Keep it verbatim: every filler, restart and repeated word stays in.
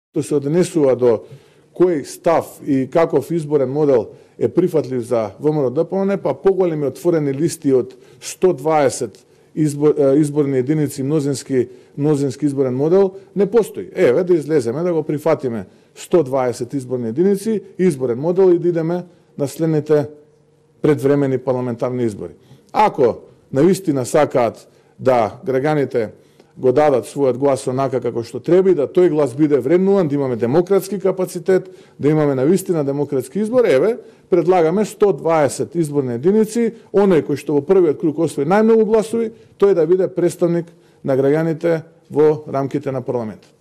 Што се однесува до кој став и каков изборен модел е прифатлив за ВМРО-ДПМН, па поголеми отворени листи од сто дваесет избор, изборни единици мнозински, мнозински изборен модел не постои. Еве да излеземе, да го прифатиме сто дваесет изборни единици, изборен модел и да идеме на следните предвремени парламентарни избори. Ако навистина сакаат да граѓаните го дадат својот глас онака како што треба и да тој глас биде вреднуван, да имаме демократски капацитет, да имаме навистина демократски избор, еве, предлагаме сто дваесет изборни единици, оној кој што во првиот круг освои најмногу гласови, тој да биде представник на граѓаните во рамките на парламентот.